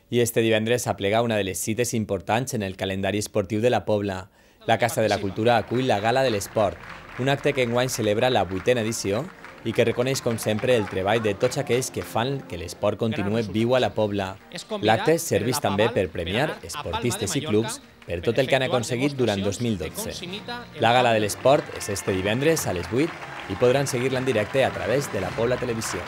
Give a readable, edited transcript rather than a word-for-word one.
I este divendres s'aplega una de les cites importants en el calendari esportiu de la Pobla. La Casa de la Cultura acull la Gala de l'Esport, un acte que enguany celebra la 8a edició i que reconeix, com sempre, el treball de tots aquells que fan que l'esport continuï viu a la Pobla. L'acte serveix també per premiar esportistes i clubs per tot el que han aconseguit durant 2012. La Gala de l'Esport és este divendres a les 8 i podran seguir-la en directe a través de la Pobla Televisió.